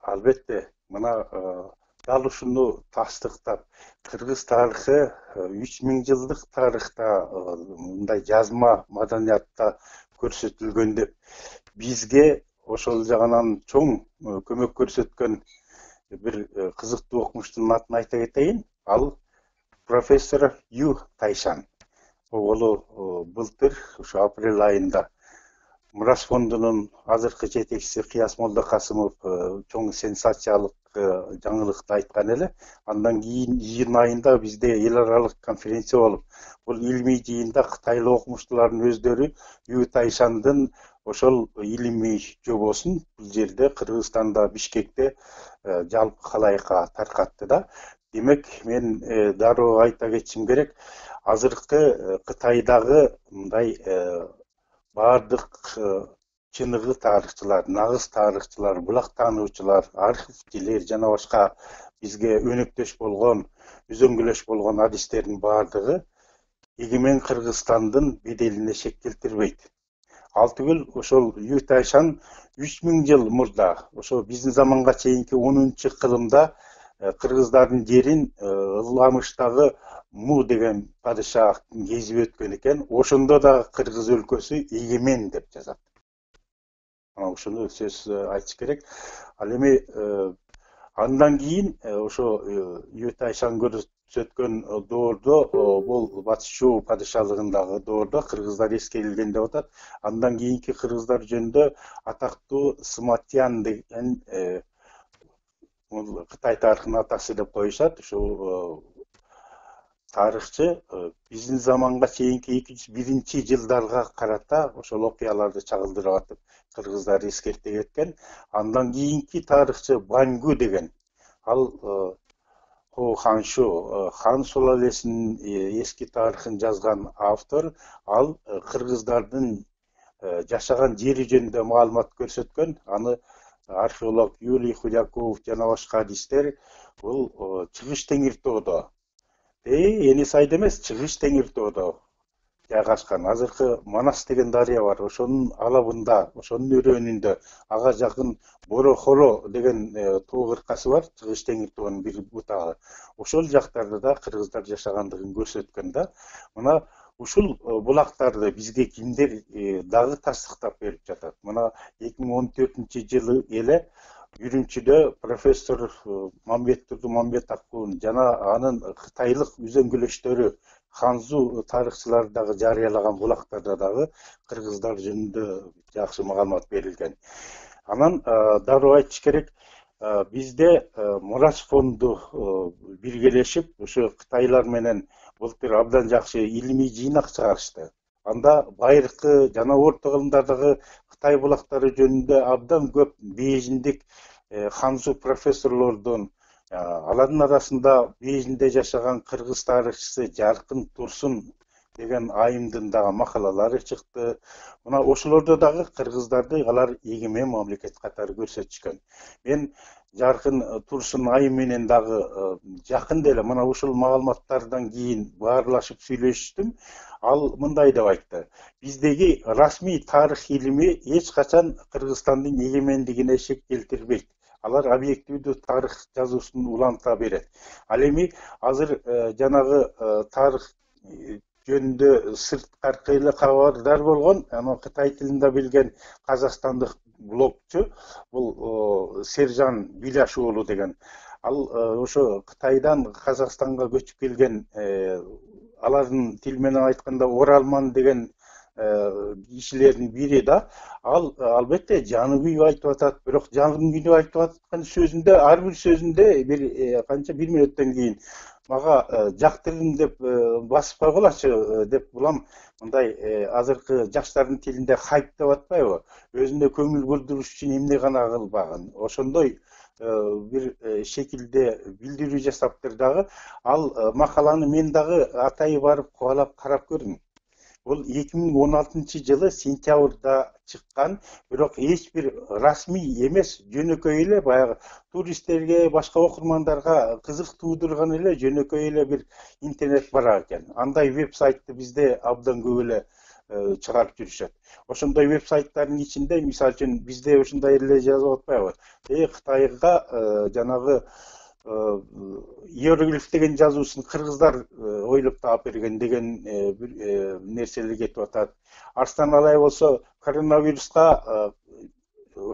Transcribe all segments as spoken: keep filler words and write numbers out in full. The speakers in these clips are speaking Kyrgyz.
Албетте, мына дал ушуну тастыктап, кыргыз тарыхы үч миң жылдык тарыхта мындай жазма маданиятта көрсөтүлгөн деп бизге ошол жагынан чоң көмөк көрсөткөн бир кызыктуу окумуштун атын айта кетейин. Ал профессор Ю Тайшан. Оголу былтыр ушу апрель айында Мурас фондунун азыркы жетекчиси Кыяс Молдокасымов чоң сенсациялык жаңылыкты айткан эле. Андан кийин июнь айында бизде эл аралык конференция болуп, бул илимий жыйында кытайлык окумуштуулардын өздөрү Ю Тайшандын ошол илимий жобосун бул жерде Кыргызстанда Бишкекте жалпы калайыкка таркатты да. Демек, мен дароо айта кетишим керек, азыркы Кытайдагы мындай бардык чыныгы тарыхчылар, нагыз тарыхчылар, булак таануучулар, архивчилер жана башка бизге өнөктөш болгон, үзөңгүлөш болгон адистердин бардыгы эгемен Кыргызстандын беделине шек келтирбейт. Ал түгүл ошол Ю Тайшан үч миң жыл мурда, ошо биздин заманга чейинки онунчу кылымда кыргыздардын жерин Ыламыштагы Му деген падышахтын кезип өткөн экен. Ошондо да кыргыз өлкөсү эгемен деп жазат. Ана ушуну сөз айтыш керек. Ал эми андан кийин ошо Ю Тайшан көрсөткөн доордо, бул Батыш Чуу падышалыгындагы доордо кыргыздар эскерилген деп атат. Андан кийинки кыргыздар жөнүндө атактуу Сматьян деген Кытай тарыхынын атасы деп коюшат. Ушул тарыхчы биздин заманга чейинки эки жүз биринчи жылдарга карата ошол окуяларды чагылдырып атып, кыргыздар эскерте кеткен. Андан кийинки тарыхчы Баньгу деген, ал Хо Ханшу, хан сулалесинин эски тарыхын жазган автор, ал кыргыздардын жашаган жери жөнүндө маалымат көрсөткөн. Аны археолог Юрий Худяков жана башка адистер бул Чыгыш Теңир тоодо, эни сайда эмес, Чыгыш Теңир тоодо жайгашкан. Азыркы Манас деген дарыя бар, ошонун алабында, ошонун өрөөнүндө, ага жакын Боро-Хоро деген тоо кыркасы бар, Чыгыш Теңир тоонун бир бутагы. Ошол жактарда да кыргыздар жашагандыгын көрсөткөн да. Мына ушул булактарды бизге кимдер дагы тастыктап берип жатат. Мына эки миң он төртүнчү жылы эле Үрүмчүдө профессор Мамбет Турдумамбет Акун жана анын кытайлык үзөңгүлөштөрү Ханзу тарыхчылары дагы жарыялаган булактарда дагы кыргыздар жөнүндө жакшы маалымат берилген. Анан дароо айтыш керек, бизде Мурас фонду биргелешип, ушу кытайлар менен былтыр абдан жакшы илимий жыйнак чыгарышты. Анда байыркы жана орто кылымдардагы Кытай булактары жөнүндө абдан көп Бейжиңдик Ханзу профессорлордун, алардын арасында Бейжиңде жашаган кыргыз тарыхчысы Жаркын Турсун деген айымдын дагы макалалары чыкты. Мына ошолордо дагы кыргыздарды алар эгемен мамлекет катары көрсөтүшкөн. Мен Жаркын Турсун айым менен дагы жакында эле мына ушул маалыматтардан кийин баарлашып сүйлөштүм. Ал мындай деп айтты: биздеги расмий тарых илими эч качан Кыргызстандын эгемендигине шек келтирбейт. Алар объективдүү тарых жазуусун уланта берет. Ал эми азыр жанагы тарых жөнүндө сырткары эле кабардар болгон, анан Кытай тилинде билген казакстандык блогчу, бул Сержан Биляш уулу деген. Ал ошо Кытайдан Казакстанга көчүп келген, алардын тил менен айтканда оралман деген кишилердин бири да. Ал албетте жаны күйүп айтып атат, бирок жаны күйүп айтып аткан сөзүндө, ар бир сөзүндө бир канча бир мүнөттөн кийин мага жактырдым деп басып койгулачы деп булам. Мындай азыркы жаштардын тилинде хайп деп атпайбы? Өзүнө көңүл бурдуруш үчүн эмне гана кылбагын. Ошондой бир шекилде билдирүү жасаптыр дагы. Ал макаланы мен дагы атайы барып кубалап карап көрдүм. Бул эки миң он алтынчы жылы сентябрда чыккан, бирок эч бир расмий эмес, жөнөкөй эле баягы туристтерге, башка окурмандарга кызык туудурган эле жөнөкөй эле бир интернет бар экен. Андай веб-сайтты бизде абдан көп эле чыгарып жүрүшөт. Ошондой веб-сайттардын ичинде мисалы үчүн бизде ушундай эле жазып атпайбы? Э Кытайга жанагы иероглиф деген жазуусун кыргыздар ойлоп таап берген деген нерселер кетип атат. Арстан Алай болсо коронавируска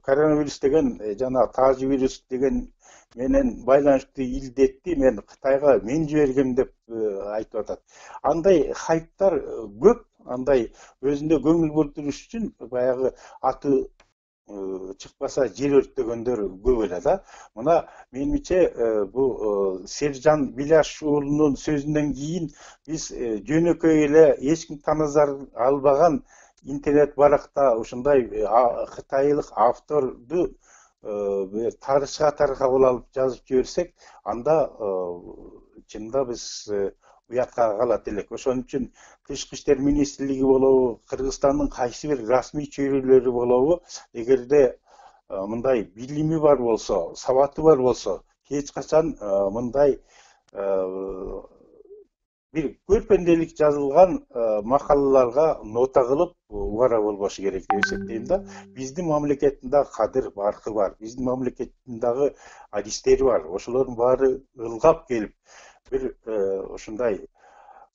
коронавирус деген жана таажы вирус деген менен байланыштуу илдетти мен Кытайга мен жибергем деп айтып атат. Андай хайптар көп, андай өзүнө көңүл бурдуруш үчүн баягы аты чыкпаса жер өрттөгөндөр көп эле да. Мына менимче бул Сержан Биляш уулунун сөзүнөн кийин биз жөнөкөй эле эч ким танызар албаган интернет баракта ушундай кытайлык авторду тарыхча катары кабыл алып жазып жиберсек, анда чында биз уятка калат элек. Ошон үчүн Тышкы иштер министрлиги болобу, Кыргызстандын кайсы бир расмий чөйрөлөрү болобу, эгерде мындай билими бар болсо, сабаты бар болсо, эч качан мындай бир көрпенделик жазылган макалаларга нота кылып убара болбошу керек деп эсептейм да. Биздин мамлекеттин дагы кадыр баркы бар, биздин мамлекеттин дагы адистери бар. Ошолордун баары ылгап келип бир ушундай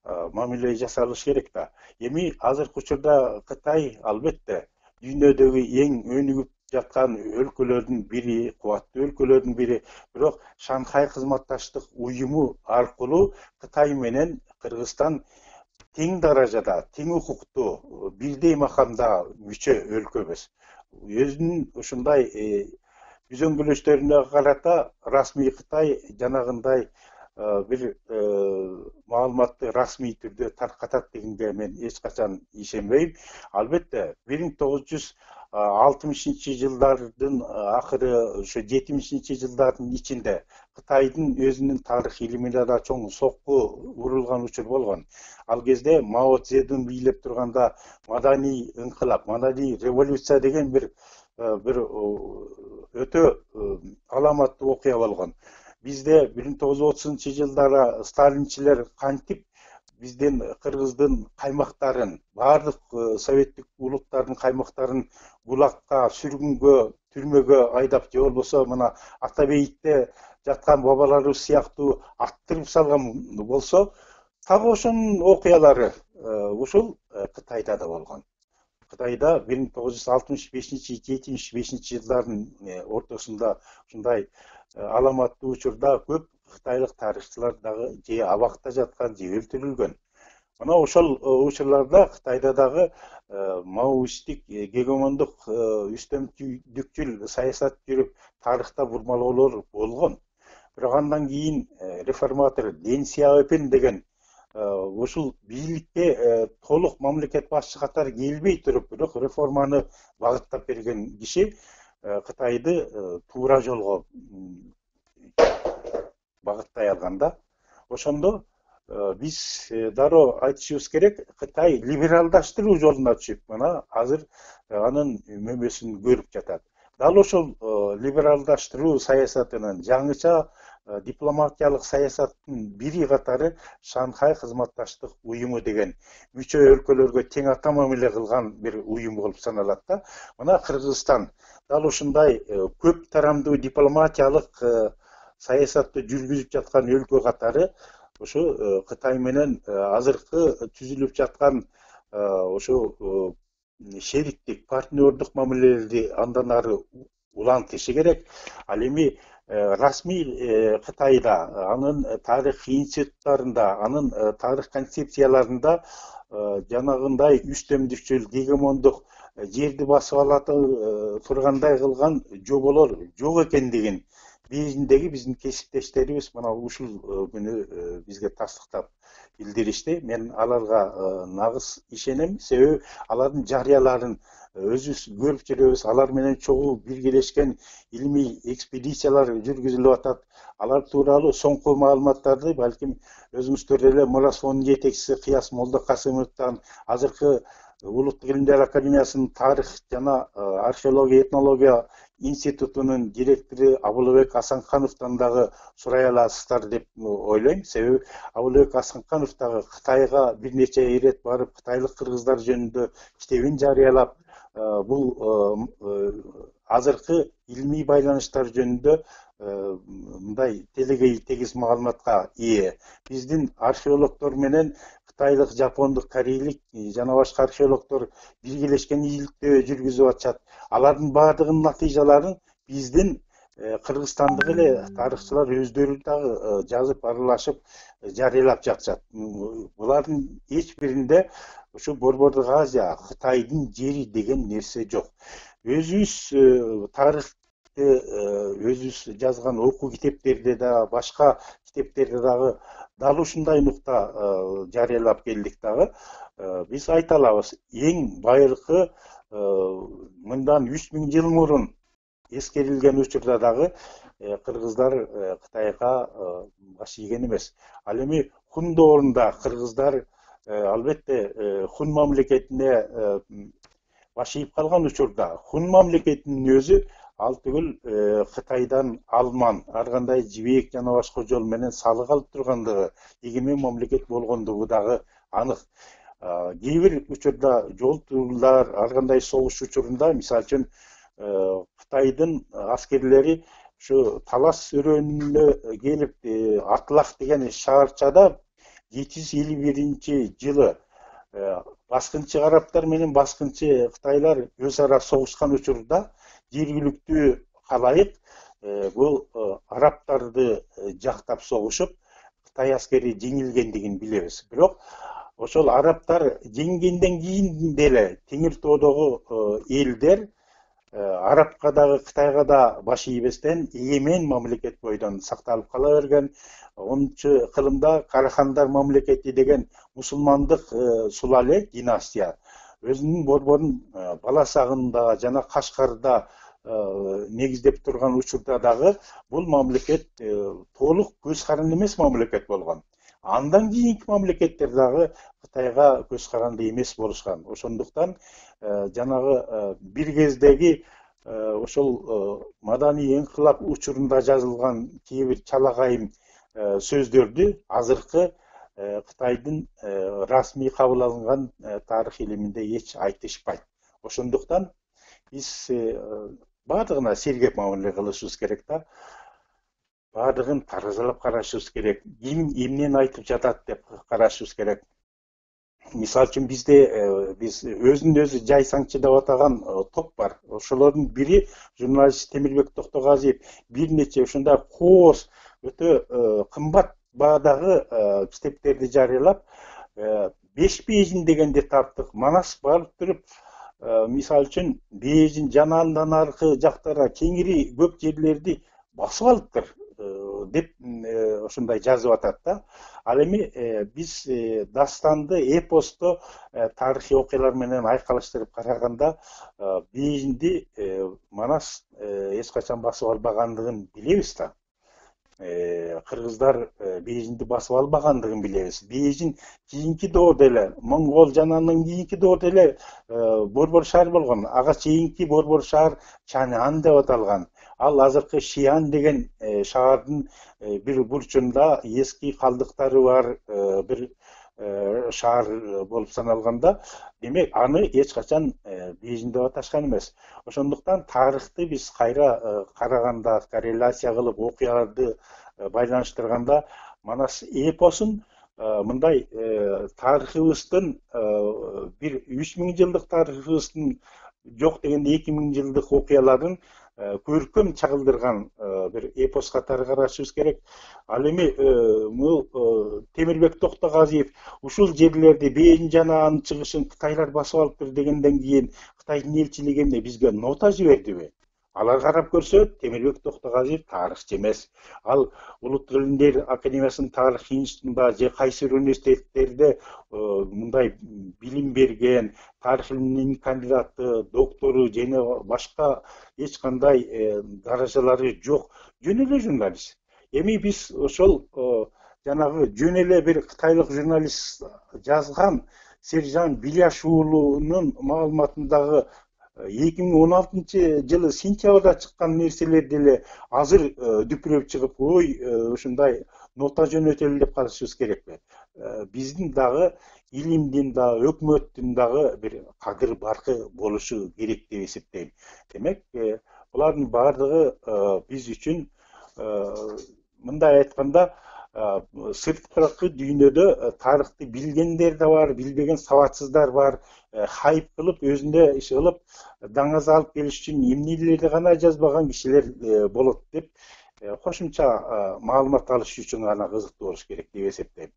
мамиле жасалыш керек да. Эми азыркы учурда Кытай албетте дүйнөдөгү эң өнүгүп жаткан өлкөлөрдүн бири, кубаттуу өлкөлөрдүн бири. Бирок Шанхай кызматташтык уюму аркылуу Кытай менен Кыргызстан тең даражада, тең укуктуу, бирдей макамда мүчө өлкөбүз. Өзүнүн ушундай үзөңгүлөштөрүнө карата расмий Кытай жанагындай бир маалыматты расмий түрдө таркатат дегенге мен эч качан ишенбейм. Албетте бир миң тогуз жүз алтымышынчы жылдардын акыры, ошо жетимишинчи жылдардын ичинде Кытайдын өзүнүн тарых илимине да чоң сокку урулган учур болгон. Ал кезде Мао Цзедун бийлеп турганда маданий инкылап, маданий революция деген бир бир өтө аламаттуу окуя болгон. Бизде бир миң тогуз жүз отузунчу жылдары сталинчилер кантип биздин Кыргыздын каймактарын, баардык советтик улуттардын каймактарын гулагка, сүргүнгө, түрмөгө айдап, же болбосо мына Атабейитте жаткан бабаларыбыз сыяктуу аттырып салган болсо, так ошонун окуялары ушул Кытайда да болгон. Кытайда бир миң тогуз жүз алтымыш бешинчи жетимиш бешинчи жылдардын ортосунда ушундай аламаттуу учурда көп кытайлык тарыхчылар дагы же абакта жаткан, же өлтүрүлгөн. Мына ошол учурларда Кытайда дагы маоисттик гегемондук үстөмдүкчүл саясат жүрүп, тарыхта бурмалоолор болгон. Бирок андан кийин реформатор Дэн Сяопин деген ушул бийликке толук мамлекет башчы катары келбей туруп, бирок реформаны багыттап берген киши Кытайды туура жолго багыттай алганда. Ошондо биз дароо айтышыбыз керек, Кытай либералдаштыруу жолуна түшүп, мына азыр анын мөмөсүн көрүп жатат. Дал ошол либералдаштыруу саясатынын, жаңыча дипломатиялык саясаттын бири катары Шанхай кызматташтык уюму деген мүчө өлкөлөргө тең ата мамиле кылган бир уюм болуп саналат да. Мына Кыргызстан дал ушундай көп тарамдуу дипломатиялык саясатты жүргүзүп жаткан өлкө катары ошо Кытай менен азыркы түзүлүп жаткан ошо шериктик, партнердук мамилелерди андан ары улантышы керек. Ал эми расмий Кытайда, анын тарых институттарында, анын тарых концепцияларында жанагындай үстөмдүкчүл, гегемондук, жерди басып алат тургандай кылган жоболор жок экендигин бейжиңдеги биздин кесиптештерибиз мына ушул күнү бизге тастыктап билдиришти. Мен аларга нагыз ишенем, себеби алардын жарыяларын өзүбүз көрүп жүрөбүз. Алар менен чогуу биргелешкен илимий экспедициялар жүргүзүлүп атат. Алар тууралуу соңку маалыматтарды балким өзүңүздөр эле Мурас фондунун жетекчиси Кыяс Молдокасымовдон, азыркы Улуттук илимдер академиясынын тарых жана археология, этнология институтунун директору Абылбек Асанкановдон дагы сурай аласыздар деп ойлойм. Себеби Абылбек Асанканов дагы Кытайга бир нече ирет барып, кытайлык кыргыздар жөнүндө китебин жарыялап, бул азыркы илмий байланыштар жөнүндө мындай телегей тегиз маалыматка ээ. Биздин археологдор менен кытайлык, жапондук, корейлик жана башка археологдор биргелешкен ийгиликтөө жүргүзүп атышат. Алардын баардыгынын натыйжаларын биздин Кыргызстандык эле тарыхчылар өздөрү дагы жазып, аралашып, жарыялап жатышат. Булардын эч биринде ушу Борбордук Азия, Кытайдын жери деген нерсе жок. Өзүбүз тарыхты өзүбүз жазган окуу китептерде да, башка китептерде дагы дал ушундай нукта жарыялап келдик дагы. Биз айта алабыз, эң байыркы мындан үч миң жыл мурун эскерилген учурда дагы кыргыздар Кытайга баш ийген эмес. Ал эми хун доорунда кыргыздар албетте хун мамлекетине баш ийип калган учурда хун мамлекетинин өзү ал түгүл Кытайдан алман, ар кандай жибек жана башка жол менен салык алып тургандыгы, эгемен мамлекет болгондугу дагы анык. Кээ бир учурда жол турлар, ар кандай согуш учурунда, мисалы үчүн Кытайдын аскерлери ушу Талас өрөөнүнө келип, Атлах деген шаарчада жети жүз элүү биринчи жылы баскынчы арабтар менен баскынчы кытайлар өз ара согушкан учурда жергиликтүү калайык бул арабтарды жактап согушуп, Кытай аскери жеңилгендигин билебиз. Бирок ошол арабтар жеңгенден кийин деле Теңир тоодогу элдер арабка дагы Кытайга да баш ийбестен эгемен мамлекет бойдон сакталып кала берген. онунчу кылымда Карахандар мамлекети деген мусулмандык сулале династия өзүнүн борборун Баласагында жана Кашкарда негиздеп турган учурда дагы бул мамлекет толук көз каранды эмес мамлекет болгон. Андан кийинки мамлекеттер дагы Кытайга көз каранды эмес болушкан. Ошондуктан жанагы бир кездеги ошол маданий инкылап учурунда жазылган кээ бир чалагайым сөздөрдү азыркы Кытайдын расмий кабыл алынган тарых илиминде эч айтышпайт. Ошондуктан биз баардыгына сергек мамиле кылышыбыз керек да. Баардыгын таразалап карашыбыз керек. Ким эмнени айтып жатат деп карашыбыз керек. Мисалы үчүн бизде биз өзүн өзү жайсаңчы деп атаган топ бар. Ошолордун бири журналист Темирбек Токтогазиев бир нече ушундай кооз өтө кымбат баадагы китептерди жарыялап, беш бейжин дегенди таптык. Манас барып туруп, мисалы үчүн бейжин жана андан аркы жактара кеңири көп жерлерди басып алыптыр деп ошондой жазып атат да. Ал эми биз дастанды, эпосту тарыхый окуялар менен айкалыштырып караганда бейжинди Манас эч качан басып албагандыгын билебиз да. Кыргыздар бейжинди басып албагандыгын билебиз. Бейжин кийинки доордо эле, Монгол жана андан кийинки доордо эле борбор шаар болгон. Ага чейинки борбор шаар Чанян деп аталган. Ал азыркы Шиан деген шаардын бир бурчунда эски калдыктары бар бир шаар болуп саналганда, демек аны эч качан Бейжин деп аташкан эмес. Ошондуктан тарыхты биз кайра караганда, корреляция кылып окуяларды байланыштырганда, Манас эпосун мындай тарыхыбыздын бир үч миң жылдык тарыхыбыздын жок дегенде эки миң жылдык окуяларын көркөм чагылдырган бир эпос катары карашыбыз керек. Ал эми бул Темирбек Токтогазиев ушул жерлерди Бейжин жана анын чыгышын Кытайлар басып алыптыр дегенден кийин Кытайдын элчилиги эмне бизге нота жибердиби? Алар карап көрсө, Темирбек Токтогазиев тарыхчы эмес. Ал Улуттук илимдер академиясынын тарых институтунда же кайсы бир университеттерде мындай билим берген, тарых илиминин кандидаты, доктору жана башка эч кандай даражалары жок, жөн эле журналист. Эми биз ошол жанагы жөн эле бир кытайлык журналист жазган Сержан Биляш уулунун маалыматындагы эки миң он алтынчы жылы сентябрда чыккан нерселер деле азыр дүпүрөп чыгып, ой, ушундай нота жөнөтөлү деп калышыбыз керекпи? Биздин дагы илимдин дагы, өкмөттүн дагы бир кадыр баркы болушу керек деп эсептейм. Демек, булардын баардыгы биз үчүн, мындай айтканда, сырткы дүйнөдө тарыхты билгендер да бар, билбеген сабатсыздар бар, хайп кылып, өзүндө иш кылып, даңаз алып келиш үчүн эмнелерди гана жазбаган кишилер болот деп, кошумча маалымат алыш үчүн гана кызыктуу болуш керек деп эсептейм.